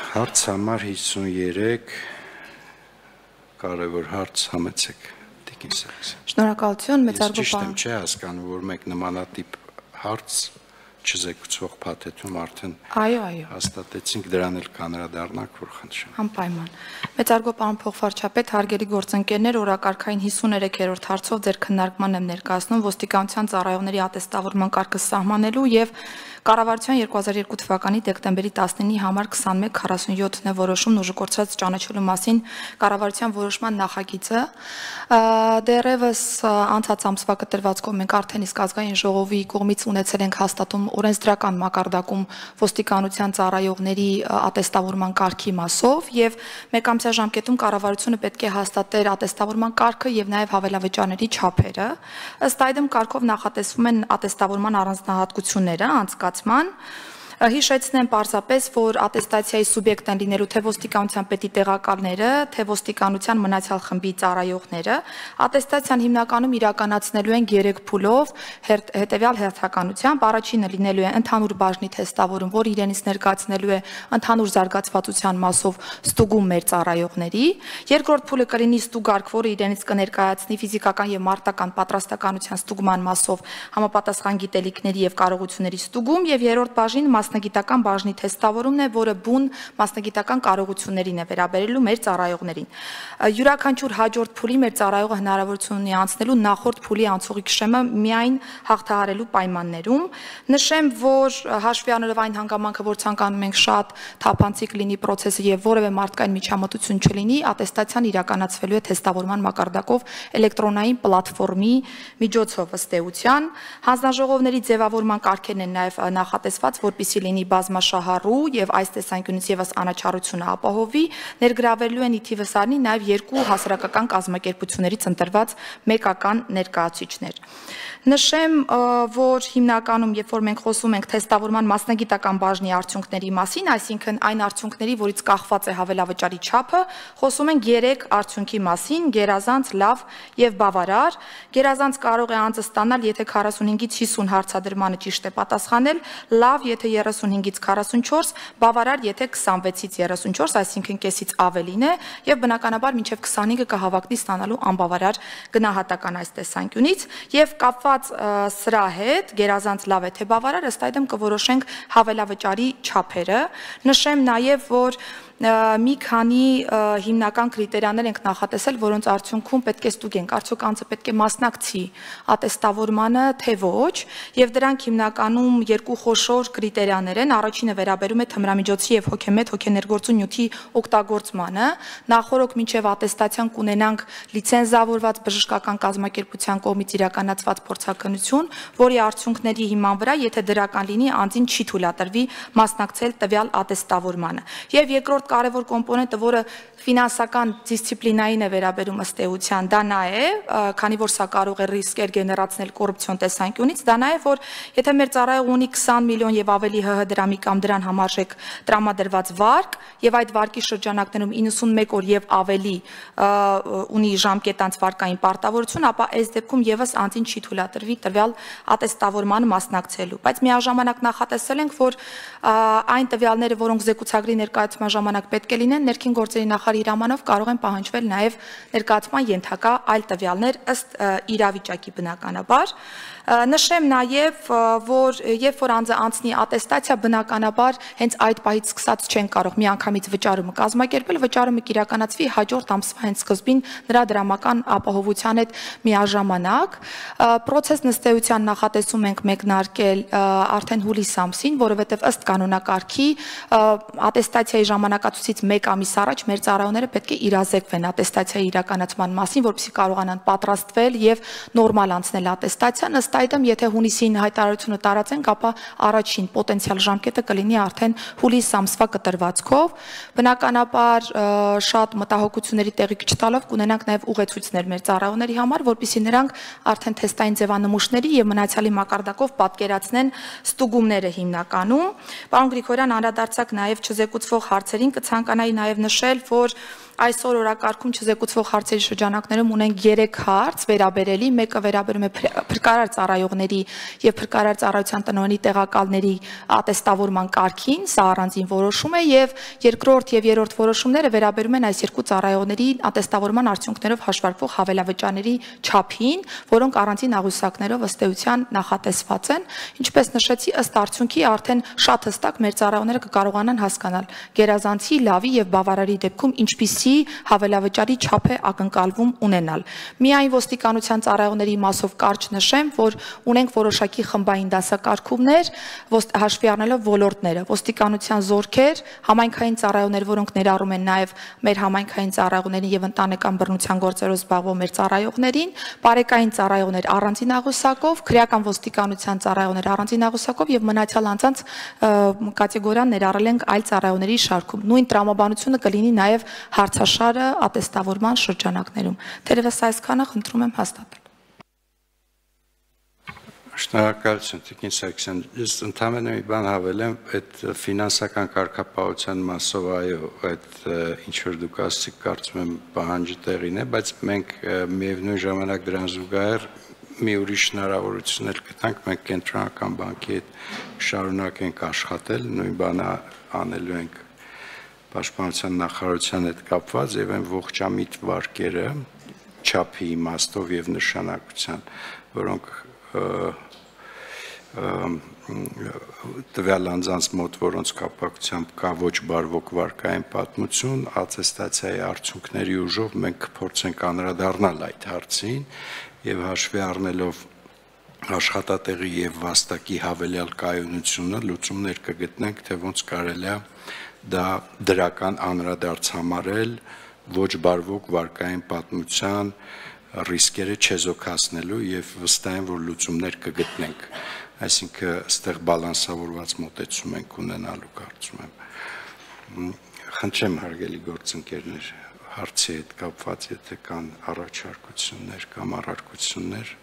Հարց համար 53 կարևոր հարց համեցեք Տիկին Սարգսյան։ Շնորհակալություն, մեծարգո Ես ճիշտ եմ պարոն։ չէ հասկանում, որ մեկ նմանատիպ հարց չզեկուցող փաթեթում արդեն Այո, հաստատեցինք, դրան էլ կանրադառնանք, որ խնդրեմ։ Անպայման։ Մեծարգո պարոն փոխվարչապետ, հարգելի գործընկերներ, օրակարգային 53-րդ հարցով ձեր քննարկման եմ ներկայացնում ոստիկանության ծառայողների ատեստավորման կարգը սահմանելու եւ Կառավարության 2002 թվականի դեկտեմբերի 19-ի համար 2147-ն է որոշումն ուժը կորցրած ճանաչելու մասին կառավարության որոշման նախագիծը դեռևս անցած ամսվա կտրվածքով մենք արդեն իսկ ազգային ժողովի կողմից ունեցել ենք հաստատում օրենսդրական մակարդակում ոստիկանության ծառայողների ատեստավորման կարգի մասով եւ մեկամսյա ժամկետում կառավարությունը պետք է հաստատեր ատեստավորման կարգը եւ նաեւ հավելավճարների չափերը ըստ այդմ կարգով նախատեսվում են ատեստավորման առանձնահատկությունները անցկացման Հիշեցնեմ պարզապես, որ ատեստացիայի սուբյեկտ են լինելու թե ոստիկանության պետի տեղակալները, թե ոստիկանության մնացյալ խմբի ծառայողները։ Ատեստացիան հիմնականում իրականացնելու են 3 փուլով հետևյալ հերթականությամբ։ Առաջինը լինելու է ընդհանուր բաժնի թեստավորում, որ իրենից ներկայացնելու է ընդհանուր զարգացվածության մասով ստուգում մեր ծառայողների։ Երկրորդ փուլը կլինի ստուգարք, որը իրենից կներկայացնի ֆիզիկական եւ մարտական պատրաստականության ստուգման մասով համապատասխան գիտելիքների եւ կարողությունների ստուգում եւ երրորդ բաժին մասնագիտական բաժնի թեստավորումն է, որը բուն մասնագիտական կարողություններին է վերաբերելու մեր ծառայողներին։ Յուրաքանչյուր հաջորդ փուլի մեր ծառայողը հնարավորություն ունի անցնելու նախորդ փուլի անցողիկ շեմը միայն հաղթահարելու պայմաններում։ Նշեմ, որ հաշվի առնելով այն հանգամանքը, որ ցանկանում ենք շատ թափանցիկ լինի process-ը եւ որևէ մարդկային միջամտություն չլինի, ատեստացիան իրականացվելու է թեստավորման մակարդակով էլեկտրոնային պլատֆորմի միջոցով ըստ էության։ Հանձնաժողովների ձևավորման կարգերն են նաեւ նախատեսված, որպեսզի լինի բազմաշահառու եւ այս տեսանկյունից եւս անաչառությունը ապահովի, ներգրավելու են ի թիվս առնի նաեւ 2 հասարակական կազմակերպություններից ընտրված մեկական ներկայացուցիչներ։ Նշեմ, որ հիմնականում, երբ որ մենք խոսում ենք թեստավորման մասնագիտական բաժնի արդյունքների մասին, այսինքն այն արդյունքների, որից կախված է հավելավճարի չափը, խոսում ենք 3 արդյունքի մասին՝ գերազանց, լավ եւ բավարար։ Գերազանց կարող է անձը ստանալ, եթե 45-ից 50 հարցադրմանը ճիշտ է պատասխանել, լավ, եթե 35-ից 44, բավարար, եթե 26-ից 34, այսինքն կեսից ավելին է, եւ բնականաբար մինչեւ 25-ը կհավակնի ստանալու անբավարար գնահատական այս տեսանկյունից, եւ կապված սրա հետ գերազանց լավ է թե բավարար, ըստ այդմ կորոշենք հավելավճարի չափերը։ Նշեմ նաեւ, որ մի քանի հիմնական կրիտերիաներ ենք նախատեսել, որոնց արդյունքում պետք է ստուգենք, արդյոք անձը պետք է մասնակցի ատեստավորմանը, թե ոչ, եւ դրանք հիմնականում 2 խոշոր կրիտերիաներ են։ Առաջինը վերաբերում է թմրամիջոցի եւ հոգեմետ հոգեներգործուն նյութի օգտագործմանը։ Նախորոք մինչեւ ատեստացիան կունենանք լիցենզավորված բժշկական կազմակերպության կողմից իրականացված փորձաքննություն, որի արդյունքների հիման վրա, եթե դրական լինի, անձին չի թույլատրվի մասնակցել տվյալ ատեստավորմանը։ Եվ երկրորդ կարևոր կոմպոնենտը, որը ֆինանսական դիսցիպլինային է վերաբերում ըստ էության, դա նա է, քանի որ սա կարող է ռիսկեր գեներացնել կոռուպցիոն տեսանկյունից, դա նա է, որ եթե մեր ծառայողը ունի 20 միլիոն եւ ավելի ՀՀ դրամի կամ դրան համարժեք տրամադրված վարկ եւ այդ վարկի շրջանակներում 91 օր եւ ավելի ունի ժամկետանց վարկային պարտավորություն, ապա այս դեպքում եւս անձին չի թույլատրվի տվյալ ատեստավորմանը մասնակցելու։ Բայց միաժամանակ նախատեսել ենք, որ այն տվյալները, որոնք զեկուցագրի ներկայացման ժամանակ պետք է լինեն, ներքին գործերի նախարարի հրամանով կարող են պահանջվել նաև ներկայացման ենթակա այլ տվյալներ ըստ իրավիճակի բնականաբար։ Նշեմ նաև, որ երբ որ անձը անցնի ատեստացիա, բնականաբար հենց այդ պահից սկսած չեն կարող միանգամից վճարումը կազմակերպել, վճարումը կիրականացվի հաջորդ ամսվա հենց սկզբին նրա դրամական ապահովության հետ միաժամանակ։ Պրոցես նստեյության նախատեսում ենք մեկնարկել արդեն հուլիս ամսին, որովհետև ըստ կանոնակարգի ատեստացիայի ժամանակացույցից 1 ամիս առաջ մեր ծառայողները պետք է իրազեկվեն ատեստացիայի իրականացման մասին, որպեսզի կարողանան պատրաստվել եւ նորմալ անցնել ատեստացիան։ Ըստ այդմ, եթե հունիսին հայտարարությունը տարածենք, ապա առաջին պոտենցիալ ժամկետը կլինի արդեն հուլիս ամսվա կտրվածքով։ Բնականաբար շատ մտահոգությունների տեղիք չտալով կունենանք նաեւ ուղեցույցներ մեր ծառայողների համար, որպեսզի նրանք արդեն թեստային ձևանմուշների եւ մնացյալի մակարդակով պատկերացնեն ստուգումները հիմնականում։ Պարոն Գրիգորյան, անդրադարձակ նաեւ չզեկուցվող հարցերին կցանկանայի նաեւ նշել, որ այսօր օրակարգում չզեկուցվող հարցերի շրջանակներում ունենք 3 հարց վերաբերելի, մեկը վերաբերում է փրկարար ծառայողների եւ փրկարար ծառայության տնօրենի տեղակալների ատեստավորման կարգին, սա առանձին որոշում է եւ երկրորդ եւ երրորդ որոշումները վերաբերում են այս երկու ծառայողների ատեստավորման արդյունքներով հաշվարկվող հավելավճարների չափին, որոնք առանձին աղյուսակներով ըստ էության նախատեսված են, ինչպես նշեցի, ըստ արդյունքի արդեն շատ հստակ մեր ծառայողները կկարողանան հասկանալ գերազանցի, լավի եւ բավարարի դեպքում ինչպիսի հավելավճարի չափ է ակնկալվում ունենալ։ Միայն ոստիկանության ծառայողների մասով կարճ նշեմ, որ ունենք որոշակի խմբային դասակարգումներ, հաշվի առնելով ոլորտները, ոստիկանության զորքեր, համայնքային ծառայողներ, որոնք ներառում են նաեւ մեր համայնքային ծառայողներին եւ ընտանեկան բռնության գործերով զբաղվող մեր ծառայողներին, բարեկային ծառայողներ առանձին աղյուսակով, քրեական ոստիկանության ծառայողներ առանձին աղյուսակով եւ մնացյալ անձանց կատեգորիան ներառել ենք այլ ծառայողների շարքում։ Նույն տրամաբանությունը կլինի նաեւ հարցաշարը ատեստավորման շրջանակներում։ Թերևս այսքանը խնդրում եմ հաստատել։ Շնորհակալություն, Տիկին Սարգսյան, ես ընդհանրապես մի բան հավելեմ, այդ ֆինանսական կարգապահության մասով այո, այդ ինչ որ դուք ասացիք, կարծում եմ պահանջը տեղին է, բայց մենք միևնույն ժամանակ դրան զուգահեռ մի ուրիշ հնարավորություն էլ գտանք, մենք կենտրոնական բանկի հետ շարունակենք աշխատել, նույն բանը անելու ենք Պաշտպանության նախարարության հետ կապված եւ այն ողջամիտ վարկերը չափի իմաստով եւ նշանակության, որոնք տվյալ անձանց մոտ, որոնց կապակցությամբ կա ոչ բարվոք վարկային պատմություն, ատեստացիայի արդյունքների ուժով մենք կփորձենք անդրադառնալ այդ հարցին եւ հաշվի առնելով աշխատատեղի եւ վաստակի հավելյալ կայունությունը լուծումներ կգտնենք, թե ոնց կարելի է դա դրական անդրադարձ համարել ոչ բարվոք վարկային պատմության ռիսկերը չեզոքացնելու եւ վստահ եմ, որ լուծումներ կգտնենք, այսինքն այստեղ բալանսավորված մոտեցում ենք ունենալու կարծում եմ։ Խնդրեմ հարգելի գործընկերներ, հարցի հետ կապված եթե կան առաջարկություններ կամ առարկություններ